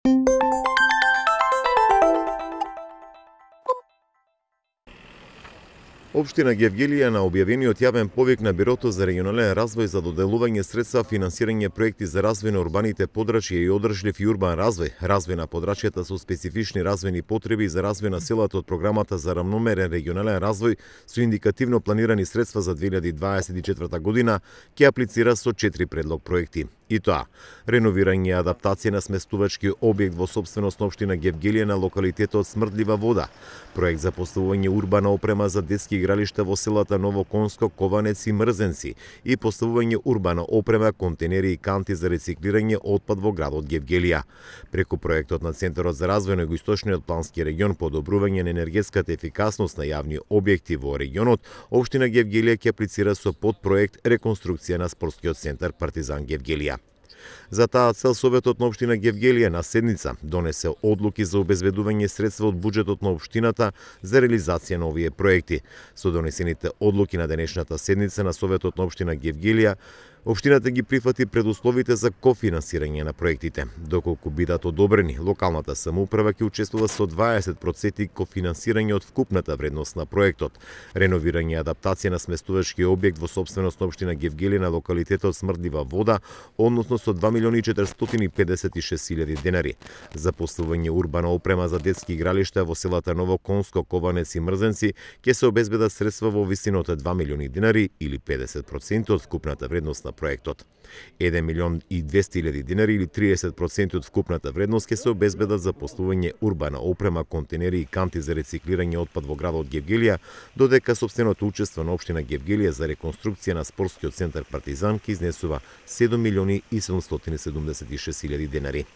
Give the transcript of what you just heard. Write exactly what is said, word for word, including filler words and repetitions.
Општина Гевгелија на објавениот јавен повик на Бирото за регионален развој за доделување средства финансирање проекти за развој на урбаните подрачја и одржлив и урбан развој, развој на подрачјата со специфични развојни потреби за развој на селата од програмата за рамномерен регионален развој со индикативно планирани средства за две илјади дваесет и четврта година ќе аплицира со четири предлог проекти. И тоа, реновирање и адаптација на сместувачки објект во собственост на општина Гевгелија на локалитетот Смрдлива вода, проект за поставување урбана опрема за детски игралишта во селата Ново Конско, Кованец и Мрзенци и поставување урбана опрема, контенери и канти за рециклирање отпад во градот Гевгелија. Преку проектот на Центарот за развој на Југоисточниот плански регион подобрување на енергетската ефикасност на јавни објекти во регионот, општина Гевгелија ќе аплицира со подпроект реконструкција на спортскиот центар Партизан Гевгелија. За таа цел Советот на општина Гевгелија на седница донесе одлуки за обезбедување средства од буџетот на општината за реализација на овие проекти. Со донесените одлуки на денешната седница на Советот на општина Гевгелија, општината ги прифати предусловите за кофинансирање на проектите. Доколку бидат одобрени, локалната самоуправа ќе учествува со дваесет проценти кофинансирање од вкупната вредност на проектот. Реновирање и адаптација на сместувачки објект во собственост на општина Гевгелија на локалитетот Смрдлива вода, односно со два милиони четиристотини педесет и шест илјади денари. За поставување урбана опрема за детски игралишта во селата Ново Конско, Кованец и Мрзенци ќе се обезбедат средства во висина од два милиони денари или педесет проценти од вкупната вредност на проектот. еден милион и двесте илјади денари или триесет проценти од вкупната вредност ќе се обезбедат за поставување урбана опрема, контенери и канти за рециклирање отпад во градот Гевгелија, додека сопственото учество на општина Гевгелија за реконструкција на спортскиот центар Партизан ќе изнесува седум милиони и седумстотини седумдесет и шест илјади денари.